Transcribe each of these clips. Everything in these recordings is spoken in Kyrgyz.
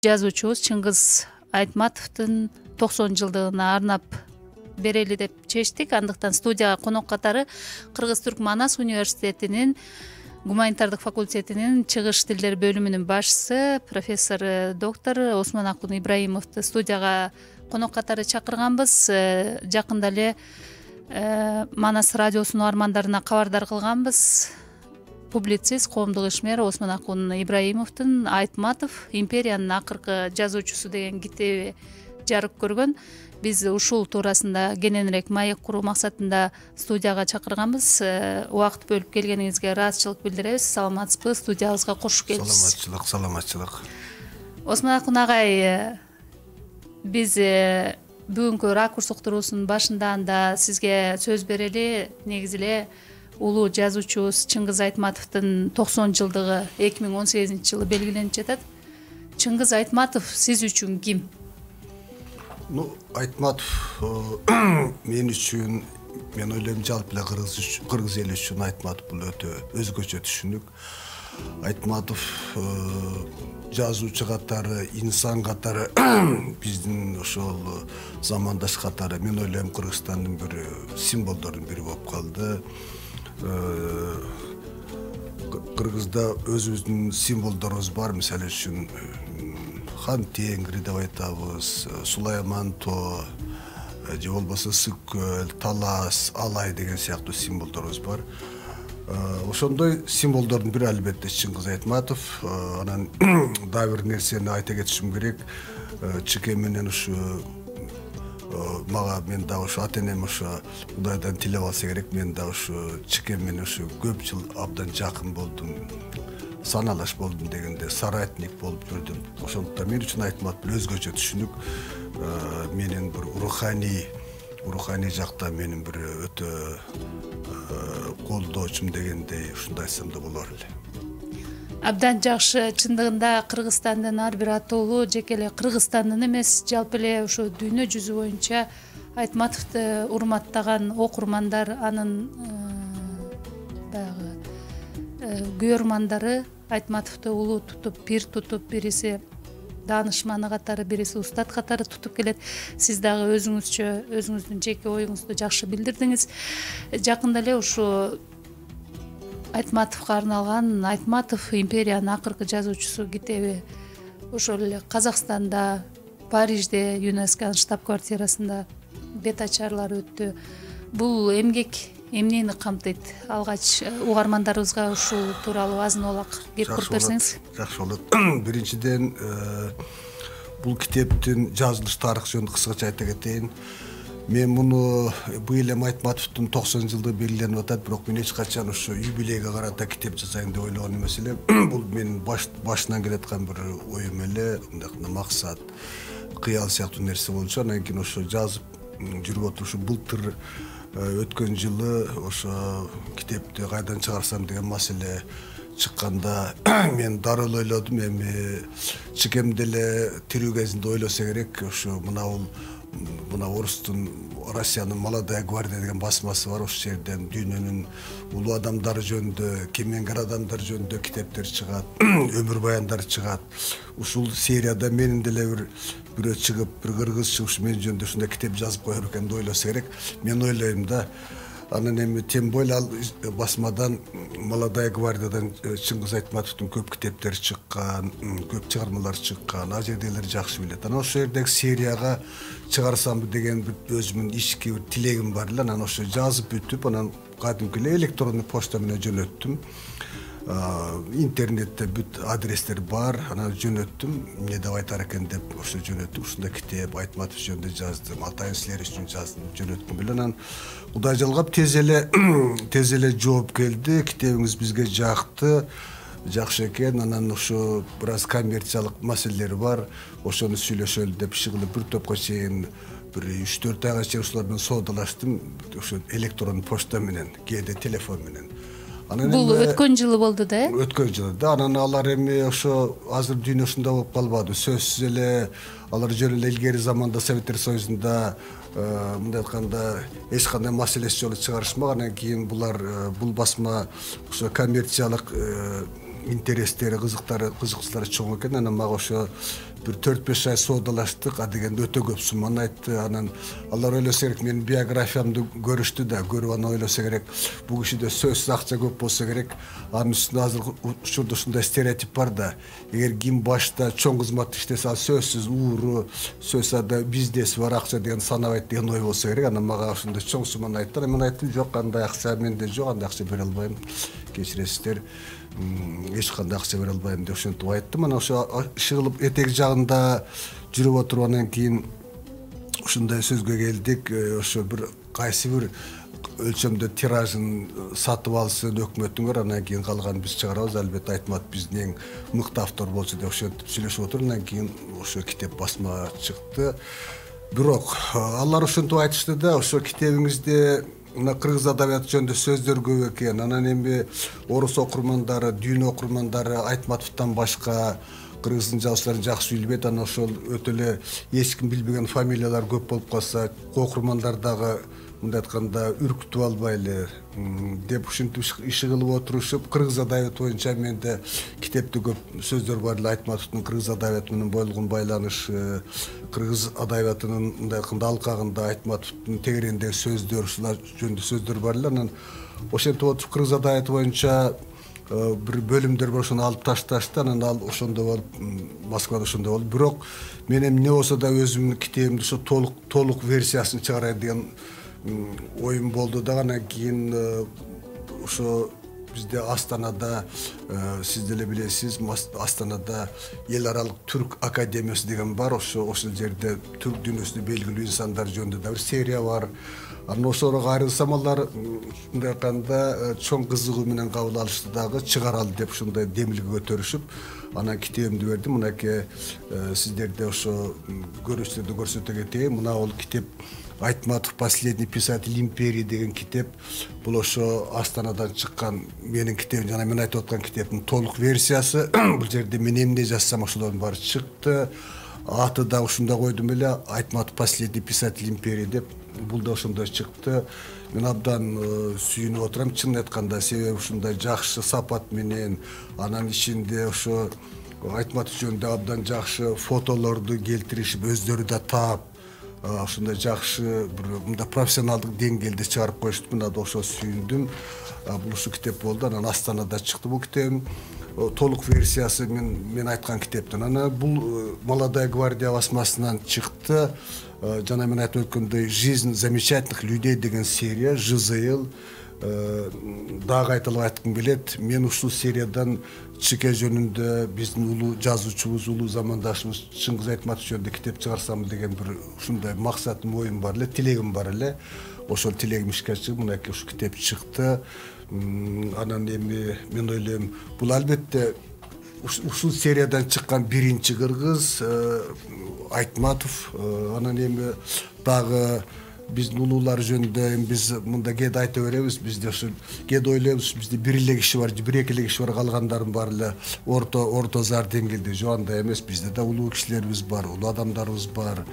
жазуучубуз Чыңгыз Айтматовдун 90 жылдыгына арнап берели деп чечтик. Андыктан студияга конок катары Кыргыз-Түрк Манас университетинин гуманитардык факультетинин чыгыш тилдер бөлүмүнүн башчысы профессор доктор Осмонакун Ибраимовду студияга конок катары чакырганбыз. Жакында эле Манас радиосунун угармандарына кабардар кылганбыз. Публицист, коомдук ишмер Осмонакун Ибраимовдун Айтматов империянын акыркы жазуучусу деген китеби жарык көргөн. Биз ушул туурасында кененирээк маек куруу максатында студияга чакырганбыз. Убакыт бөлүп келгениңизге ыраазычылык билдиребиз. Саламатсызбы? Студиябызга кош келипсиз. Саламатчылык. Осмонакун агай, биз бүгүнкү ракурс уктуруусунун башында сизге сөз берели. Негизи эле улуу жазуучубуз Чыңгыз Айтматовдун 90 жылдыгы 2018-жылы белгиленип жатат. Чыңгыз Айтматов сиз үчүн ким? Айтматов мен үчүн, мен ойлойм, жалпы эле кыргыз эли үчүн Айтматов бул өтө өзгөчө түшүнүк. Айтматов жазуучу катары, инсан катары, биздин ошол замандаш катары, мен ойлойм, Кыргызстандын бир символдордун бири болуп калды. Кыргызда өзүбүздүн символдорубуз бар. Мисалы үчүн Хан Тенгри деп айтабыз, Сулайман Тоо, же болбосо Сык көл, Талас, Алай деген сыяктуу символдорубуз бар. Ошондой символдордун бири албетте Чыңгыз Айтматов. Анан дагы бир нерсени айта кетишим керек. Чыке менен ушу мен дагы ушу ата-энем ушу Кудайдан тилеп алса керек. Мен дагы ушу Чыке менен ушу көп жыл абдан жакын болдум, саналаш болдум дегенде, соратник болуп жүрдүм. Ошондуктан мен үчүн Айтматов бир өзгөчө түшүнүк. Менин бир руханий жакта менин бир өтө колдоочум дегендей, ушундай айтсам да болор эле. Абдан жакшы. Чындыгында Кыргызстандын ар бир атоолу жеке эле Кыргызстандын эмес, жалпы эле ушу дүйнө жүзү боюнча Айтматовду урматтаган окурмандар, анын баягы күйөрмандары Айтматовду улуу тутуп, пир тутуп, бириси даанышманы катары, бириси устат катары тутуп келет. Сиз дагы өзүңүздүн жеке оюңузду жакшы билдирдиңиз. Жакында эле ушу Айтматовго арналган Айтматов империянын акыркы жазуучусу китеби ошол эле Казакстанда, Парижде, ЮНЕСКОнун штаб-квартирасында бет ачарлары өттү. Бул эмгек эмнени камтыйт? Алгач угармандарыбызга ушул тууралуу азын-аулак кеп куруп берсеңиз. Жакшы болот. Биринчиден, бул китептин жазылыш тарыхы жөнүндө кыскача айта кетейин. Мен муну быйыл эми Айтматовдун 90 жылдыгы белгиленип атат, бирок мен эч качан ушу юбилейге карата китеп жазайын деп ойлогон эмес элем. Бул менин башынан келаткан бир оюм эле, мындай максат, кыял сыяктуу нерсе болчу. Анан кийин ошо жазып жүрүп отурушу былтыр өткөн жылы ошо китепти кайдан чыгарсам деген маселе чыкканда мен дарыл ойлодум. Эми Чыкем деле тирүү кезинде ойлосо керек, ошо мына орустун, Россиянын Молодая гвардия деген басмасы бар. Ошол жерден дүйнөнүн улуу адамдары жөнүндө, кемеңгер адамдар жөнүндө китептер чыгат, өмүр баяндар чыгат. Ушул серияда менин деле бирөө чыгып, бир кыргызча ушу мен жөнүндө ушундай китеп жазып коер экен деп ойлосо керек. Мен ойлойм да. Анан эми тем более ал басмадан, Молодая гвардиядан Чыңгыз Айтматовдун көп китептери чыккан, көп чыгармалар чыккан, ал жердегилер жакшы билет. Анан ошол жердеги серияга чыгарсамбы деген бир өзүмдүн ички бир тилегим бар эле. Анан ошо жазып бүтүп, анан кадимки эле электрондук почта менен жөнөттүм. Интернетте бүт адрестер бар, анан жөнөттүм. Эмне деп айтар экен деп ошо жөнөттүм. Ушундай китеп Айтматов жөнүндө жаздым, атайын силер үчүн жаздым, жөнөттүм эле. Анан Кудай жалгап тез эле жооп келди. Китебиңиз бизге жакты, жакшы экен. Анан ошо бир аз коммерциялык маселелери бар. Ошону сүйлөшөлү деп чыгылып бир топко чейин, бир 3-4 айга чейин ушулар менен соодалаштым. Ошо электрондук почта менен, кээде телефон менен. Бул өткөн жылы болду да, Өткөн жылы да. Анан алар эми ошо азыр дүйнө ушундай болуп калбады. Сөзсүз эле алар жөн эле илгери заманда Советтер Союзунда мындай айтканда эч кандай маселеси жолу чыгарышмак. Анан кийин булар бул басма ошо коммерциялык интерестери, кызыкчылары чоң экен. Анан мага ошо бир 4-5 ай соодалаштык, дегенде өтө көп сумманы айтты. Анан алар ойлосо керек, менин биографиямды көрүштү да, көрүп анан ойлосо керек, бул кишиде сөзсүз акча көп болсо керек. Анын үстүнө азыр учурда ушундай стереотип бар да, эгер ким башта чоң кызматты иштесе, ал сөзсүз ууру, сөзсүз ада бизнеси бар, акча деген санабайт деген ой болсо керек. Анан мага ошондой чоң сумманы айттылар. Мен айттым, жок, андай акча менде жок, андай акча бере албайм, кечиресиздер, эч кандай акча бере албайм деп ошентип айттым. Анан ошо иши кылып этек жагында жүрүп отуруп, анан кийин ушундай сөзгө келдик. Ошо бир кайсы бир өлчөмдө тиражын сатып алсын өкмөтүңөр, анан кийин калганын биз чыгарабыз. Албетте Айтматов биздин эң мыкты автор болчу деп ошентип сүйлөшүп отуруп, анан кийин ошо китеп басмага чыкты. Бирок алар ошентип айтышты да, ошо китебиңизде мына кыргыз адабияты жөнүндө сөздөр көп экен. Анан эми орус окурмандары, дүйнө окурмандары Айтматовдон башка кыргыздын жазуучуларын жакшы билбейт. Анан ошол өтө эле эч ким билбеген фамилиялар көп болуп калса, окурмандар дагы мындай айтканда үркүтүп албайлы деп ушинтип иши кылып отурушуп, кыргыз адабияты боюнча менде китепте көп сөздөр бар эле. Айтматовдун кыргыз адабияты менен болгон байланышы, кыргыз адабиятынын мындай айтканда алкагында Айтматовдун тегерегиндеги сөздөр, ушулар жөнүндө сөздөр бар эле. Анан ошентип отуруп кыргыз адабияты боюнча бир бөлүмдөр бар, ошону алып ташташты. Анан ал ошондо болуп, Москвада ошондо болду. Бирок мен эми эмне болсо да өзүмдүн китебимди ошо толук версиясын чыгарайын деген оюм болду да. Анан кийин ошо бизде Астанада, сиз деле билесиз, Астанада эл аралык түрк академиясы деген бар. Ошол жерде түрк дүйнөсүндө белгилүү инсандар жөнүндө да бир серия бар. Анан ошого кайрылсам, алар мындай айтканда чоң кызыгуу менен кабыл алышты дагы, чыгаралы деп ушундай демилге көтөрүшүп, анан китебимди бердим. Мынакей сиздерде ошо көрүүчүлөрдү көрсөтө кетейин. Мына бул китеп Айтматов «Последний писатель империи» деген китеп. Бул ошо Астанадан чыккан менин китебим, жана мен айтып аткан китептин толук версиясы. Бул жерде мен эмне жазсам ошолордун баары чыкты. Аты да ушундай койдум эле, Айтматов «Последний писатель империи» деп. Бул да ошондой чыкты. Мен абдан сүйүнүп отурам, чынын айтканда, себеби ушундай жакшы сапат менен, анан ичинде ошо Айтматов жөнүндө абдан жакшы фотолорду келтиришип, өздөрү да таап, ушундай жакшы бир мындай профессионалдык деңгээлде чыгарып коюшту. Мына да ошо сүйүндүм. Бул ушу китеп болду. Анан Астанада чыкты бул китебим. Толук версиясы мен айткан китептен. Анан бул «Молодая гвардия» басмасынан чыкты. Жана мен айтып өткөндөй «Жизнь замечательных людей» деген серия, ЖЗЛ. Дагы айтылып айткым келет. Мен ушул сериядан чике жөнүндө биздин улуу жазуучубуз, улуу замандашыбыз Чыңгыз Айтматов жөнүндө китеп чыгарсам деген бир ушундай максатым, оюм бар эле, тилегим бар эле. Ошол тилегим ишке ашып, мынакей ушу китеп чыкты. Анан эми мен ойлойм, бул албетте ушул сериядан чыккан биринчи кыргыз Айтматов. Анан эми дагы биздин улуулар жөнүндө биз мында кээде айта беребиз. Бизде ошо кээде ойлойбуз, бизде бир эле киши бар, бир эки эле киши бар, калгандардын баары эле орто зар деңгээлде. Жок, андай эмес. Бизде да улуу кишилерибиз бар, улуу адамдарыбыз бар.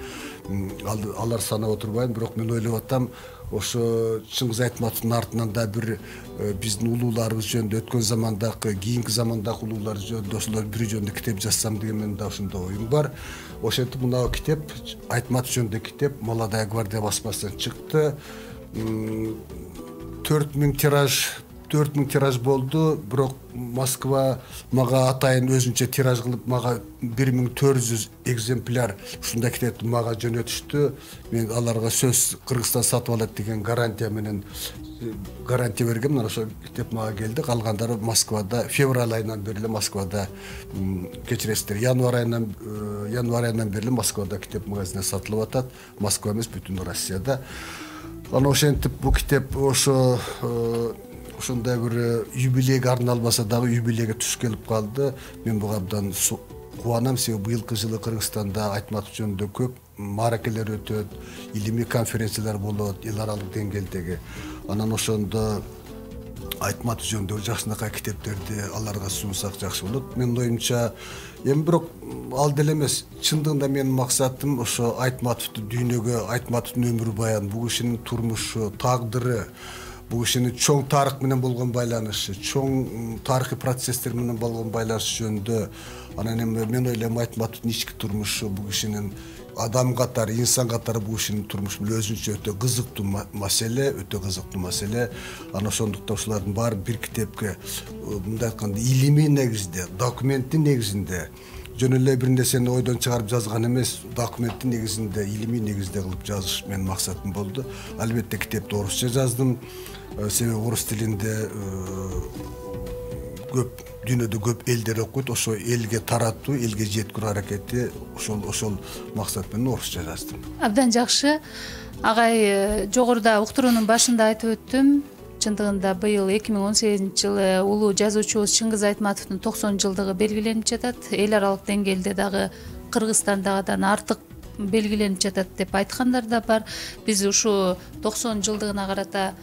Алар санап отурбайм, бирок мен ойлоп атам, ошо Чыңгыз Айтматовдун артынан да бир биздин улууларыбыз жөнүндө, өткөн замандагы, кийинки замандагы улуулар жөнүндө, ошолор бири жөнүндө китеп жазсам деген менин да ошондой оюм бар. Ошентип мына китеп, Айтматов жөнүндө китеп «Молодая гвардия» басмасынан чыкты. 4000 тираж болду. Бирок Москва мага атайын өзүнчө тираж кылып, мага 1400 экземпляр ушундай китепти мага жөнөтүштү. Мен аларга сөз Кыргызстан сатып алат деген гарантия бергем. Мына ошол китеп мага келди. Калгандары Москвада февраль айынан бери эле Москвада, кечиресиздер, январь айынан бери эле Москвада китеп магазинде сатылып атат. Москва эмес, бүтүн Россияда. Анан ошентип бул китеп ошондой бир юбилейге арналбаса дагы юбилейге туш келип калды. Мен буга абдан кубанам, себеби быйылкы жылы Кыргызстанда Айтматов жөнүндө көп мааракелер өтөт, илимий конференциялар болот, эл аралык деңгээлдеги. Анан ошондо Айтматов жөнүндө жакшынакай китептерди аларга сунсак жакшы болот. Менин оюмча, эми бирок ал деле эмес, чындыгында менин максатым ошо Айтматовду дүйнөгө, Айтматовдун өмүр баяны, бул кишинин турмушу, тагдыры, бул кишинин чоң тарых менен болгон байланышы, чоң тарыхый процесстер менен болгон байланышы жөнүндө, анан эми мен ойлойм Айтматовдун ички турмушу, бул кишинин адам катары, инсан катары бул кишинин турмушу өзүнчө өтө кызыктуу маселе, Анан ошондуктан ушулардын баары бир китепке мындай айтканда илимий негизде, документтин негизинде, жөн эле бир нерсени ойдон чыгарып жазган эмес, документтин негизинде, илимий негизде кылып жазыш менин максатым болду. Албетте китепти орусча жаздым, себеби орус тилинде көп дүйнөдө көп элдер окуйт, ошо элге таратуу, элге жеткирүү аракети ошол максат менен орусча жаздым. Абдан жакшы. Агай, жогоруда уктуруунун башында айтып өттүм. Чындыгында быйыл 2018-жылы улуу жазуучубуз Чыңгыз Айтматовдун 90 жылдыгы белгиленип жатат. Эл аралык деңгээлде дагы Кыргызстандагыдан артык белгиленип жатат деп айткандар да бар. Биз ушу 90 жылдыгына карата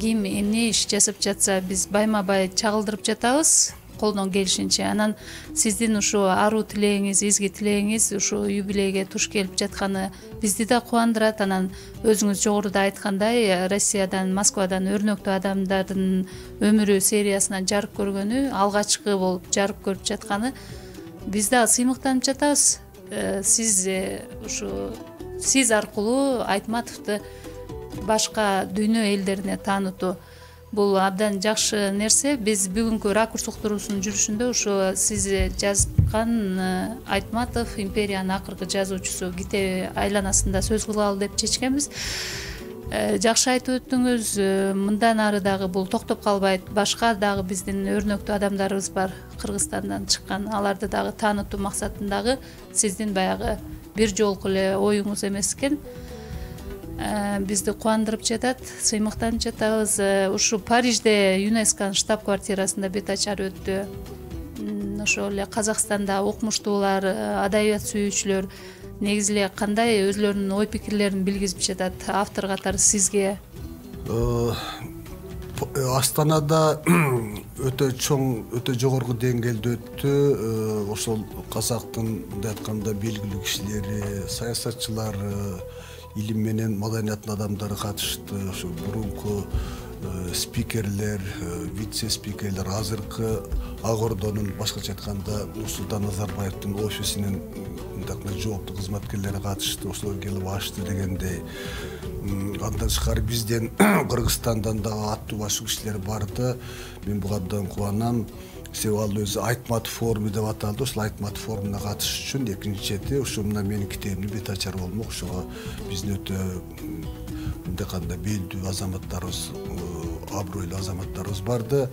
ким эмне иш жасап жатса, биз байма-бай чагылдырып жатабыз, колдон келишинче. Анан сиздин ушу аруу тилегиңиз, изги тилегиңиз ушу юбилейге туш келип жатканы бизди да кубандырат. Анан өзүңүз жогоруда айткандай, Россиядан, Москвадан өрнөктүү адамдардын өмүрү сериясынан жарык көргөнү, алгачкы болуп жарык көрүп жатканы биз да сыймыктанып жатабыз. Сиз аркылуу Айтматовду башка дүйнө элдерине таанытуу, бул абдан жакшы нерсе. Биз бүгүнкү ракурс уктуруусунун жүрүшүндө ушу сиз жазган Айтматов империянын акыркы жазуучусу китеби айланасында сөз кылалы деп чечкенбиз. Жакшы айтып өттүңүз. Мындан ары дагы бул токтоп калбайт. Башка дагы биздин өрнөктүү адамдарыбыз бар, Кыргызстандан чыккан. Аларды дагы таанытуу максатындагы сиздин баягы бир жолку эле оюңуз эмес экен. Бизди кубандырып жатат, сыймыктанып жатабыз. Ушу Парижде ЮНЕСКОнун штаб-квартирасында бет ачар өттү. Ошол эле Казакстанда окумуштуулар, адабият сүйүүчүлөр негизи эле кандай өзлөрүнүн ой пикирлерин билгизип жатат автор катары сизге? Астанада өтө чоң, өтө жогорку деңгээлде өттү. Ошол казактын мындай айтканда белгилүү кишилери, саясатчылары, илим менен маданиятын адамдары катышты. Ошо мурунку спикерлер, вице-спикерлер, азыркы Ак Ордонун, башкача айтканда Нурсултан Назарбаевдин офисинин мындай жооптуу кызматкерлери катышты. Ошолор келип ачты дегендей. Андан тышкары бизден Кыргызстандан дагы аттуу башкы кишилер барды. Мен буга абдан кубанам. Себеби ал өзү Айтматов форуму деп аталды. Ошол Айтматов форумуна катышыш үчүн экинчи чети ошо мына менин китебимди бет ачар болмок. Ошого биздин өтө мындай кандай белдүү азаматтарыбыз, абройлуу азаматтарыбыз барды.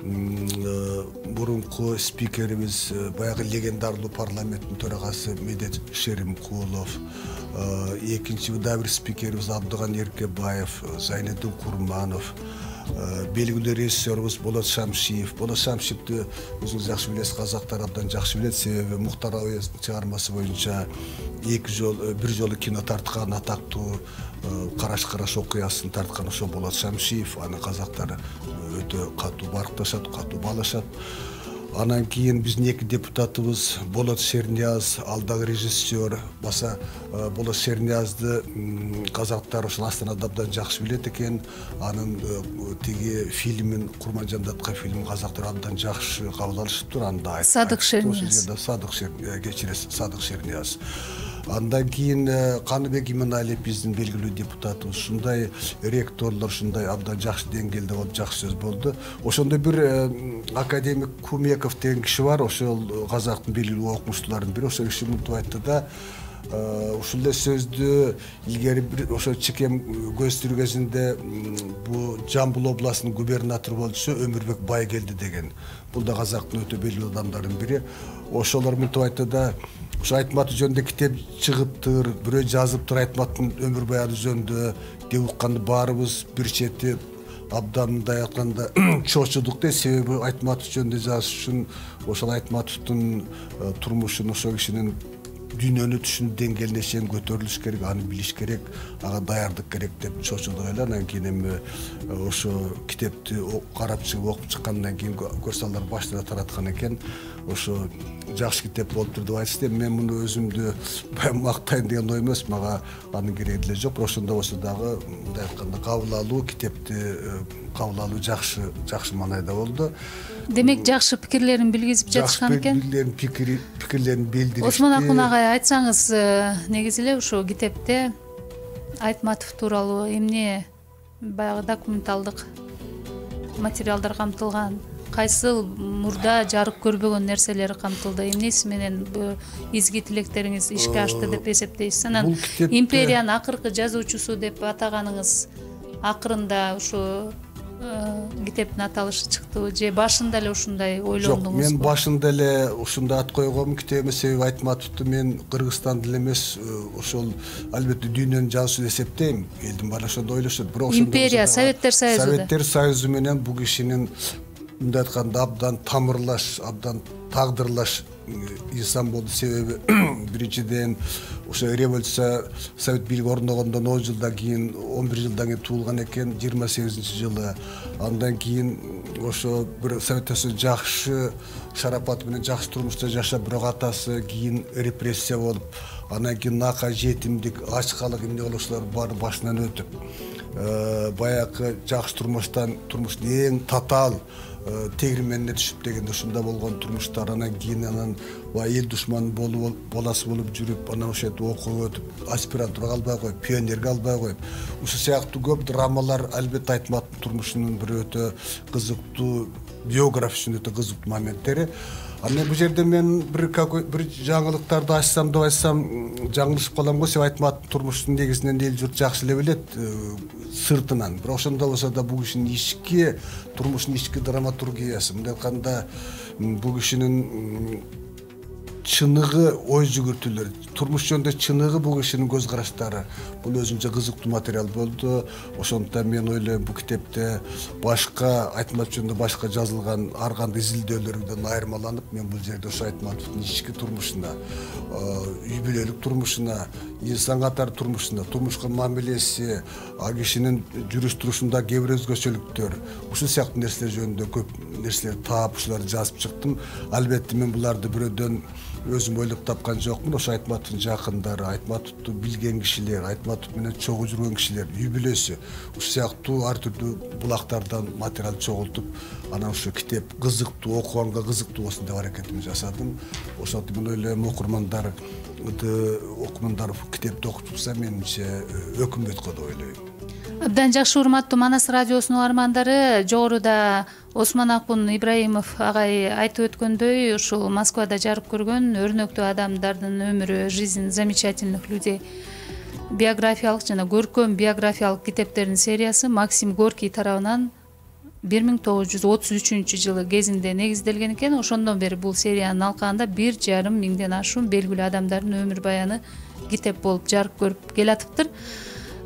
Мурунку спикерибиз баягы легендарлуу парламенттин төрагасы Медет Шеримкулов, экинчи дагы бир спикерибиз Абдыган Эркебаев, Зайнеддин Курманов, белгилүү режиссерибиз Болот Шамшиев. Болот Шамшиевди өзүңүз жакшы билесиз, казактар абдан жакшы билет, себеби Мухтар Абаевдин чыгармасы боюнча бир жолу кино тарткан атактуу Караш окуясын тарткан ошо Болот Шамшиев. Аны казактар өтө катуу баркташат, катуу баалашат. Анан кийин биздин эки депутатыбыз Болот Шернияз, ал дагы режиссер. Баса Болот Шерниязды казактар ошол Астанада абдан жакшы билет экен. Анын тиги фильмин, Курманжандатка фильмин казактар абдан жакшы кабыл алышыптыр. Анда Садык Шернияз. Садык Шернияз. Андан кийин Каныбек Иманалиев биздин белгилүү депутатыбыз. Ушундай ректорлор, ушундай абдан жакшы деңгээлде болуп, жакшы сөз болду. Ошондо бир академик Кумеков деген киши бар, ошол казактын белгилүү окумуштууларынын бири. Ошол киши мынтип айтты да, ушул эле сөздү илгери бир ошо чекем көзтүрүү кезинде бул Жамбыл областынын губернатору болчу Өмүрбек Байгелди деген. Бул да казактын өтө белгилүү адамдарынын бири. Ошолор мынтип айтты да, ошо Айтматов жөнүндө китеп чыгыптыр, бирөө жазыптыр Айтматтын өмүр баяны жөнүндө деп укканды баарыбыз бир чети абдан мындай айтканда чочудук да, себеби Айтматов жөнүндө жазыш үчүн ошол Айтматовдун турмушун, ошол кишинин дүйнөнү түшүнүү деңгээлине чейин көтөрүлүш керек, аны билиш керек, ага даярдык керек деп чочулдук эле. Анан кийин эми ошо китепти карап чыгып окуп чыккандан кийин көрсалар башта тараткан экен. Ошо жакшы китеп болуптур деп айтышты. Мен муну өзүмдү баягы мактайын деген ой эмес, мага анын кереги деле жок. Бирок ошондой болсо дагы мындай айтканда кабыл алуу, китепти кабыл алуу жакшы маанайда болду. Демек жакшы пикирлерин билгизип жатышкан экен. Пикирлерин билдиришти. Осмон Акун агай, айтсаңыз, негизи эле ушул китепте Айтматов тууралуу эмне баягы документалдык материалдар камтылган, кайсыл мурда жарык көрбөгөн нерселери камтылды, эмнеси менен изги тилектериңиз ишке ашты деп эсептейсиз? Анан империянын акыркы жазуучусу деп атаганыңыз акырында ушу китептин аталышы чыктыбы же башында эле ушундай ойлондуңузбу? Жок, мен башында эле ушундай ат койгом китебиме, себеби Айтматовду мен Кыргызстанда эле эмес, ошол албетте дүйнөнүн жазуучусу деп эсептейм. Элдин баары ошондой ойлошот. Бирок империя, Советтер Союзу. Советтер Союзу менен бул кишинин мындай айтканда абдан тамырлаш, абдан тагдырлаш инсан болду. Себеби биринчиден ошо революция, совет бийлиги орногондон 10 жылдан кийин, 11 жылдан кийин туулган экен, 28-жылы. Андан кийин ошо бир Советтер Союзу жакшы шарапат менен жакшы турмушта жашап, бирок атасы кийин репрессия болуп, андан кийин нака, жетимдик, ачкалык эмне болушулар баары башынан өтүп, баягы жакшы турмуштун эң татаал тегирменине түшүп дегенде ушунда болгон турмуштар. Анан кийин эл душманы боласы болуп жүрүп, анан ошо окууга өтүп, аспирантурага албай коюп, пионерге албай коюп, ушул сыяктуу көп драмалар албетте Айтматовдун турмушунун бир өтө кызыктуу, биография үчүн өтө кызыктуу моменттери. Анан бул жерде мен бир жаңылыктарды ачсам деп айтсам жаңылышып калам го. Себеби Айтматовдун турмушунун негизинен эл журт жакшы эле билет сыртынан. Бирок ошондой болсо да бул кишинин ички турмушунун ички драматургиясы, мындай айтканда бул кишинин чыныгы, ой жүгүртүүлөр, турмуш жөнүндө чыныгы бул кишинин көз караштары, бул өзүнчө кызыктуу материал болду. Ошондуктан мен ойлойм, бул китепте башка Айтматов жөнүндө башка жазылган ар кандай изилдөөлөрдөн айырмаланып, мен бул жерде ошо Айтматовдун ички турмушуна, үй бүлөлүк турмушуна, инсан катары турмушуна, турмушка мамилеси, кишинин жүрүш турушунда кээ бир өзгөчөлүктөр, ушул сыяктуу нерселер жөнүндө көп нерселерди таап, ушуларды жазып чыктым. Албетте мен буларды бирөөдөн өзүм ойлоп тапкан жокмун. Ошо Айтматовдун жакындары, Айтматовду билген кишилер, Айтматов менен чогуу жүргөн кишилер, үй бүлөсү, ушул сыяктуу ар түрдүү булактардан материал чогултуп, анан ушу китеп кызыктуу, окуганга кызыктуу болсун деп аракетимди жасадым. Ошондо мен ойлойм, окурмандар китепти окуп чыкса, менимче өкүмбөт го деп ойлойм. Абдан жакшы, урматтуу Манас радиосунун угармандары, жогоруда Осмон Акун Ибраимов агай айтып өткөндөй, ушул Москвада жарык көргөн өрнөктүү адамдардын өмүрү, жизнь замечательных людей биографиялык жана көркөм биографиялык китептердин сериясы Максим Горький тарабынан 1933-жылы кезинде негизделген экен. Ошондон бери бул сериянын алкагында 1,5 миңден ашуун белгилүү адамдардын өмүр баяны китеп болуп жарык көрүп келатыптыр.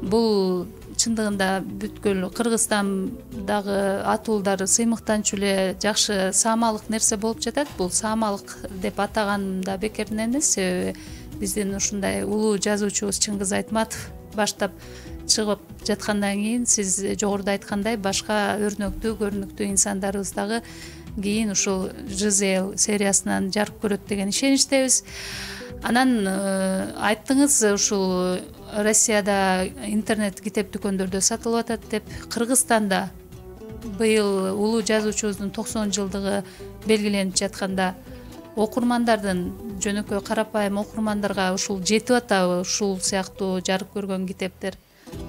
Бул чындыгында бүткүл Кыргызстандагы атуулдар сыймыктанчу эле жакшы саамалык нерсе болуп жатат. Бул саамалык деп атаганым да бекерден эмес, себеби биздин ушундай улуу жазуучубуз Чыңгыз Айтматов баштап чыгып жаткандан кийин, сиз жогоруда айткандай, башка өрнөктүү, көрүнүктүү инсандарыбыз дагы кийин ушул ЖЗЛ сериясынан жарык көрөт деген ишеничтебиз. Анан айттыңыз, ушул Россияда интернет китеп дүкөндөрдө сатылып атат деп. Кыргызстанда быйыл улуу жазуучубуздун 90 жылдыгы белгиленип жатканда окурмандардын, жөнөкөй карапайым окурмандарга ушул жетип атабы, ушул сыяктуу жарык көргөн китептер?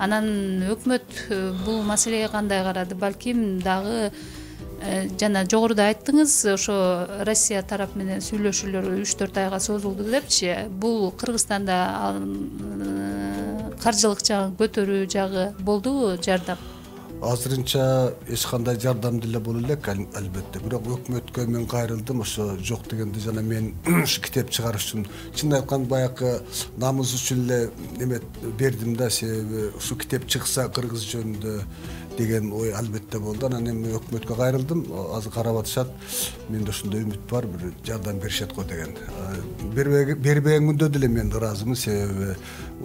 Анан өкмөт бул маселеге кандай карады? Балким дагы жана жогоруда айттыңыз, ошо Россия тарап менен сүйлөшүүлөр 3-4 айга созулду депчи. Бул Кыргызстанда каржылык жагын көтөрүү жагы болдубу жардам? Азырынча эч кандай жардам деле боло элек, албетте. Бирок өкмөткө мен кайрылдым, ошо жок дегенде жана мен ушу китеп чыгарыш үчүн, чын айтканда баягы намыс үчүн эле эме бердим да, себеби ушу китеп чыкса Кыргыз жөнүндө деген ой албетте болду. Анан эми өкмөткө кайрылдым. Азыр карап атышат. Менде ушундай үмүт бар, бир жардам беришет го деген. Бербеген күндө деле мен ыраазымын, себеби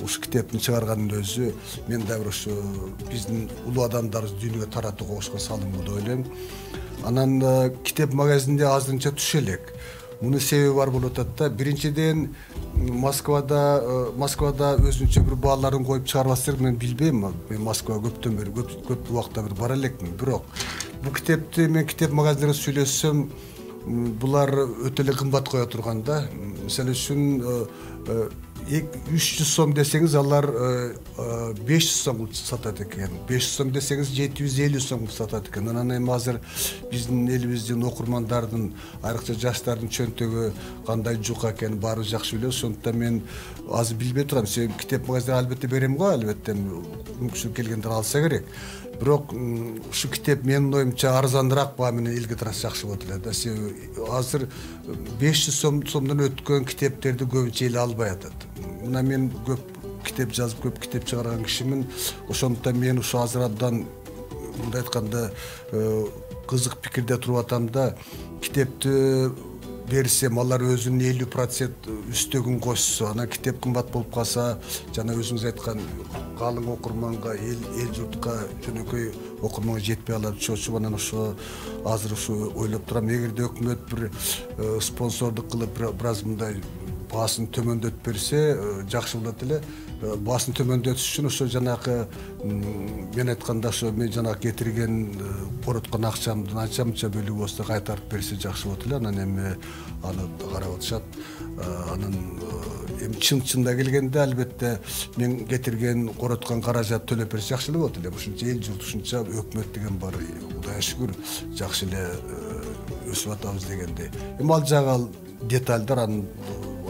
ушу китептин чыгарганын өзү мен да бир ушу биздин улуу адамдарыбызды дүйнөгө таратууга кошкон салымбы деп ойлойм. Анан китеп магазинде азырынча түшө элек. Мунун себеби бар болуп атат да. Биринчиден Москвада өзүнчө бир бааларын коюп чыгарбаса керек, мен билбейм. Мен Москвага көптөн бери көп убакта бир бара элекмин. Бирок бул китепти мен китеп магазиндерге сүйлөсөм, булар өтө эле кымбат кое турган да. Мисалы үчүн 300 сом десеңиз, алар 500 сом сатат экен. 500 сом десеңиз 750 сом сатат экен. Анан эми азыр биздин элибиздин окурмандардын, айрыкча жаштардын чөнтөгү кандай жука экенин баары жакшы билебиз. Ошондуктан мен азыр билбей турам. Себеби китеп магазинде албетте берем го, албетте мүмкүнчүлүк келгендер алса керек. Бирок ушу китеп менин оюмча арзаныраак баа менен элге тараса жакшы болот эле да. Себеби азыр 500 сомдон өткөн китептерди көбүнчө эл албай атат. Мына мен көп китеп жазып, көп китеп чыгарган кишимин. Ошондуктан мен ушу азыр абдан мындай айтканда кызык пикирде туруп атам да. Китепти берсем, алар өзүнүн 50% үстөгүн кошсо, анан китеп кымбат болуп калса, жана өзүңүз айткан калың окурманга, эл журтка, жөнөкөй окурманга жетпей алат. Ошо анан ошо азыр ушу ойлоп турам. Эгерде өкмөт бир спонсордук кылып бир аз мындай баасын төмөндөтүп берсе, жакшы болот эле. Баасын төмөндөтүш үчүн ошо жанагы мен айтканда ошо мен жанагы кетирген короткон акчамдын анча-мынча бөлүгү болсо кайтарып берсе жакшы болот эле. Анан эми аны карап атышат. Анан эми чын-чында келгенде албетте мен кетирген короткон каражат төлөп берсе жакшы эле болот эле. Ушунча эл журт, ушунча өкмөт деген бар. Кудайга шүгүр, жакшы эле өсүп атабыз дегенде. Эми ал жагы детальдар, анын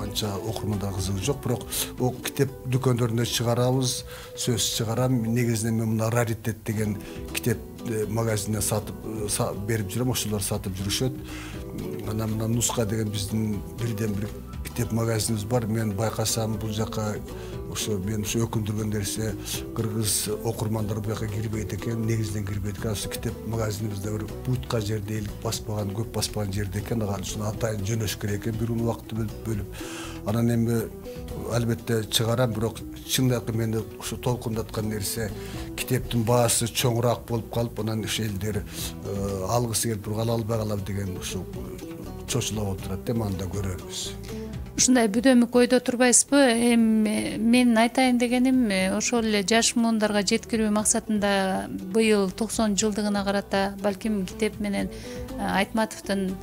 анча окурмандар кызыгы жок. Бирок китеп дүкөндөрүндө чыгарабыз, сөз чыгарам. Негизинен мен мына раритет деген китеп магазинине сатып берип жүрөм, ошолор сатып жүрүшөт. Анан мына Нуска деген биздин бирден бир китеп магазинибиз бар. Мен байкасам бул жака ошо мен ушу өкүндүргөн нерсе, кыргыз окурмандар бу жака кирбейт экен, негизинен кирбейт экен. Ошо китеп магазинибизде бир бутка жерде эл баспаган, көп баспаган жерде экен. Ага ушуну атайын жөнөш керек экен, бир убакытты бөлүп. Анан эми албетте чыгарам, бирок чындап мени ушу толкундаткан нерсе, китептин баасы чоңураак болуп калып, анан ошо элдер алгысы келип туруп албай калам деген ушу чочулап отурат. Эми аны да көрөрбүз. Ушундай бүдөмүк ойдо турбайсызбы? Эми мен айтайын дегеним, ошол эле жаш муундарга жеткирүү максатында быйыл 90 жылдыгына карата балким китеп менен Айтматовдун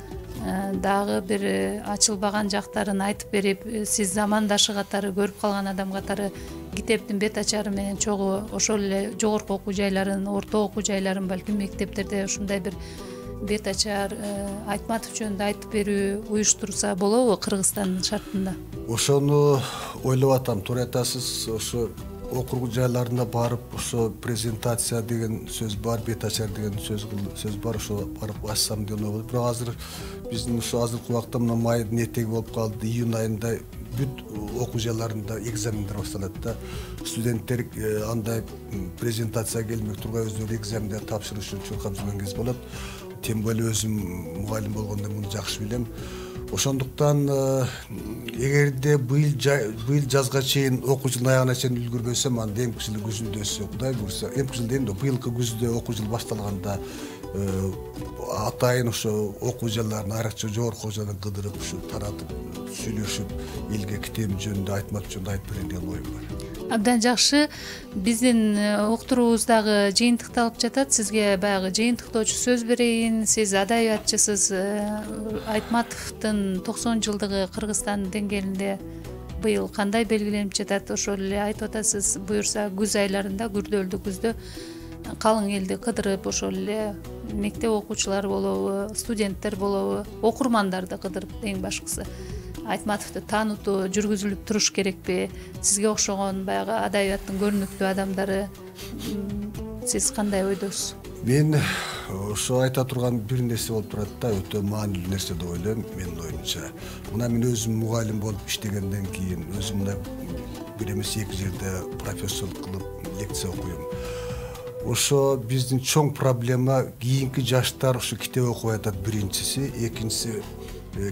дагы бир ачылбаган жактарын айтып берип, сиз замандашы катары, көрүп калган адам катары китептин бет ачары менен чогуу ошол эле жогорку окуу жайларын, орто окуу жайларын, балким мектептерде ушундай бир бет ачар Айтматов жөнүндө айтып берүү уюштурса болобу Кыргызстандын шартында? Ошону ойлоп атам, туура айтасыз. Ошо окуу жайларына барып, ошо презентация деген сөз бар, бет ачар деген сөз бар, ошо барып ачсам деген ой болот. Бирок азыр биздин ошо азыркы убакта мына майдын этеги болуп калды, июнь айында бүт окуу жайларында экзамендер башталат да. Студенттер андай презентация келмек тургай өздөрү экзамендер тапшырыш үчүн чуркап жүргөн кез болот. Тем более өзүм мугалим болгондо муну жакшы билем. Ошондуктан эгерде быйыл жазга чейин окуу жылдын аягына чейин үлгүрбөсөм, анда эмки жылы күзүндө Кудай буйрса, эмки жыл дейм да, быйылкы күздө окуу жыл башталганда атайын ошо окуу жайларын, айрыкча жогорку окуу жайларын кыдырып, ушу таратып, сүйлөшүп, элге китеп жөнүндө, Айтматов жөнүндө айтып берейин деген оюм бар. Абдан жакшы. Биздин уктуруубуз дагы жыйынтыкталып жатат. Сизге баягы жыйынтыктоочу сөз берейин. Сиз адабиятчысыз. Айтматовдун 90 жылдыгы Кыргызстан деңгээлинде быйыл кандай белгиленип жатат? Ошол эле айтып атасыз, буюрса күз айларында, күрдөлдүү күздө калың элди кыдырып, ошол эле мектеп окуучулары болобу, студенттер болобу, окурмандарды кыдырып, эң башкысы Айтматовду таанутуу жүргүзүлүп туруш керекпи? Сизге окшогон баягы адабияттын көрүнүктүү адамдары, сиз кандай ойдосуз? Мен ошо айта турган бир нерсе болуп турат да, өтө маанилүү нерсе деп ойлойм менин оюмча. Мына мен өзүм мугалим болуп иштегенден кийин, өзүм мына бир эмес эки жерде профессорлук кылып лекция окуйм. ошо биздин чоң проблема кийинки жаштар ушу китеп окубай атат биринчиси, экинчиси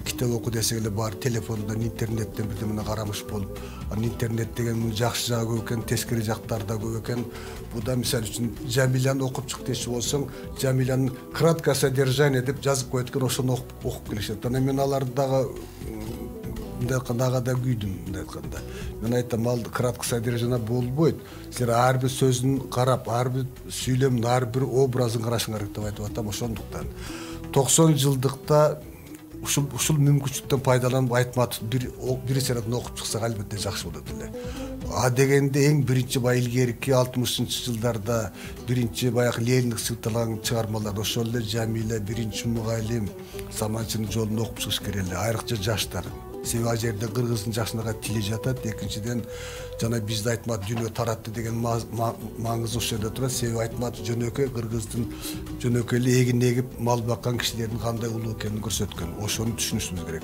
китеп оку десек эле баары телефондон, интернеттен бирдемени карамыш болуп, анан интернет деген жакшы жагы көп экен, тескери жактары да көп экен. Буда мисалы үчүн Жамиляны окуп чык дечи болсоң, Жамилянын краткое содержание деп жазып коет экен, ошону окуп келишет. Анан мен аларды дагы мындай айтканда ага да күйдүм. Мындай айтканда мен айтам, ал краткое содержание болбойт. Силер ар бир сөзүн карап, ар бир сүйлөмүн, ар бир образын карашың керек деп айтып атам. Ошондуктан 90 жылдыкта ушул мүмкүнчүлүктөн пайдаланып Айтматов бир сератын окуп чыксак албетте жакшы болот эле. А дегенде эң биринчи баягы илгерки 60-жылдарда биринчи баягы Лениндик сыйкталган чыгармалар ошол эле Жамиля, биринчи мугалим, Саманчынын жолун окуп чыгыш керек эле, айрыкча жаштар. Себеби ал жерде кыргыздын жакшынака тили жатат. Экинчиден жана бизди Айтматов дүйнөгө таратты деген маңызы ошол жерде турат. Себеби Айтматов жөнөкөй кыргыздын жөнөкөй эле эгин эгип мал баккан кишилердин кандай улуу экенин көрсөткөн. Ошону түшүнүшүбүз керек.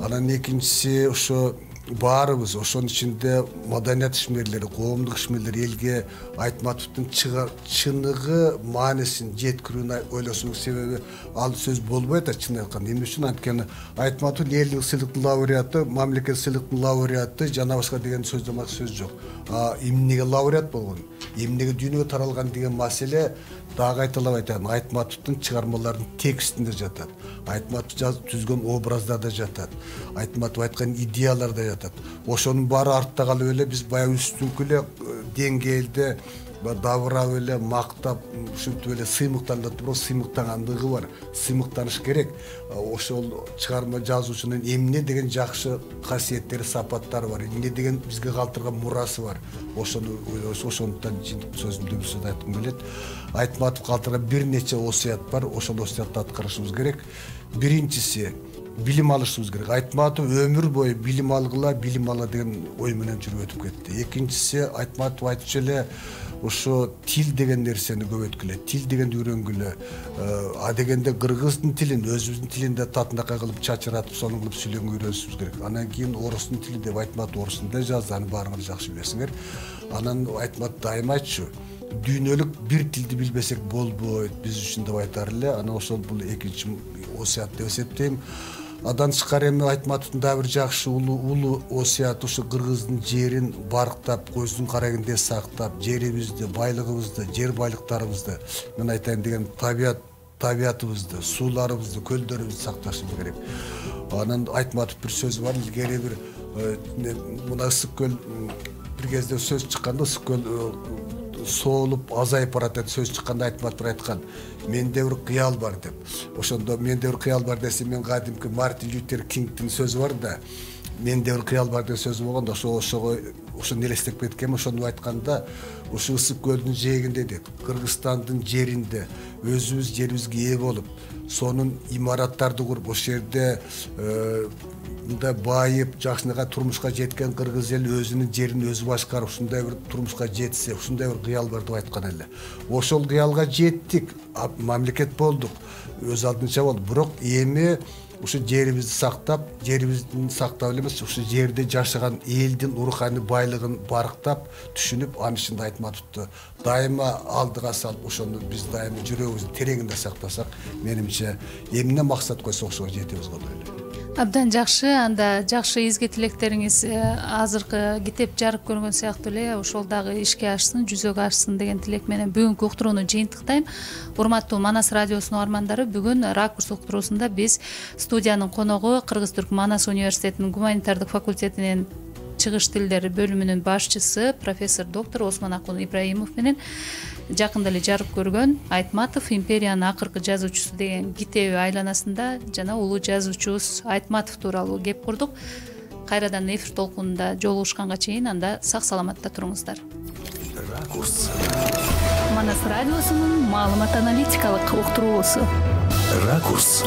Анан экинчиси ошо баарыбыз, ошонун ичинде маданият ишмерлери, коомдук ишмерлер элге Айтматовдун чыныгы маанисин жеткирүүнү ойлособуз. Себеби ал сөз болбой атат чын айтканда. Эмне үчүн? Анткени Айтматов элдик сыйлыктын лауреаты, мамлекет сыйлыктын лауреаты жана башка деген сөз жок. Эмнеге лауреат болгон, эмнеге дүйнөгө таралган деген маселе дагы айтылып айтам. Айтматовдун чыгармаларынын текстинде жатат. Айтматов түзгөн образдарда жатат. Айтматов айткан идеялар да жатат. Ошонун баары артта калып эле биз баягы үстүңкү эле деңгээлде дабырап эле мактап, ушинтип эле сыймыктанып туруп, сыймыктагандыгы бар. Сыймыктаныш керек. Ошол чыгарма жазуучунун эмне деген жакшы касиеттери, сапаттары бар, эмне деген бизге калтырган мурасы бар. Ошондуктан сөзүмдү бир сөз айткым келет. Айтматов калтырган бир нече осуят бар. Ошол осуятты аткарышыбыз керек. Биринчиси билим алышыбыз керек. Айтматов өмүр бою билим алгыла деген ой менен жүрүп өтүп кетти. Экинчиси Айтматов айтчу эле ошо тил деген нерсени көбөйткүлө, тил дегенди үйрөнгүлө. А дегенде кыргыздын тилин, өзүбүздүн тилинде татынакай кылып чачыратып, сону кылып сүйлөгөнгө үйрөнүшүбүз керек. Анан кийин орустун тили деп Айтматов орус тилинде жазды, аны баарыңар жакшы билесиңер. Анан Айтматов дайыма айтчу, дүйнөлүк бир тилди билбесек болбойт биз үчүн деп айтар эле. Анан ошол бул экинчи осуят деп эсептейм. Адан тышкары эми Айтматовдун да бир жакшы улуу осуяты ушу кыргыздын жерин барктап, көздүн карагинде сактап, жерибизди, байлыгыбызды, жер байлыктарыбызды, мен айтайын деген табиятыбызды, сууларыбызды, көлдөрүбүздү сакташыбыз керек. Анан Айтматов бир сөзү бар, илгери бир мына ысык көл бир кезде сөз чыкканда, ысык көл соолуп азайып барат деп сөз чыкканда Айтматов айткан, менде бир кыял бар деп. Ошондо менде бир кыял бар десе, мен кадимки Мартин Лютер Кингдин сөзү бар да, менде бир кыял бар деген сөзү болгондо ошону элестеп кеткем. Ошону айтканда, ушу ысык көлдүн жээгинде дейт, Кыргызстандын жеринде өзүбүз жерибизге ээ болуп, сонун имараттарды куруп, ошол жерде мындай байып, жакшынакай турмушка жеткен кыргыз эли өзүнүн жерин өзү башкарып, ушундай бир турмушка жетсе, ушундай бир кыял бар деп айткан эле. Ошол кыялга жеттик, мамлекет болдук, өз алдынча болду. Бирок эми ушу жерибизди сактап, жерибиздин сактап эле эмес, ушу жерде жашаган элдин руханий байлыгын барктап, түшүнүп, анын ичинде Айтматовду дайыма алдыга салып, ошону биз дайыма жүрөгүбүздүн тереңинде сактасак, менимче эмне максат койсок ошого жетебиз болот эле. Абдан жакшы. Анда жакшы изги тилектериңиз азыркы китеп жарык көргөн сыяктуу эле ошол дагы ишке ашсын, жүзөгө ашсын деген тилек менен бүгүнкү уктурууну жыйынтыктайм. Урматтуу Манас радиосунун угармандары, бүгүн Ракурс уктуруусунда биз студиянын коногу Кыргыз-Түрк Манас университетинин гуманитардык факультетинин чыгыш тилдери бөлүмүнүн башчысы профессор доктор Осмонакун Ибраимов менен жакында эле жарык көргөн Айтматов империянын акыркы жазуучусу деген китеби айланасында жана улуу жазуучубуз Айтматов тууралуу кеп курдук. Кайрадан эфир толкунунда жолугушканга чейин анда сак саламатта туруңуздар. Ракурс. Манас радиосунун маалымат аналитикалык уктуруусу. Ракурс.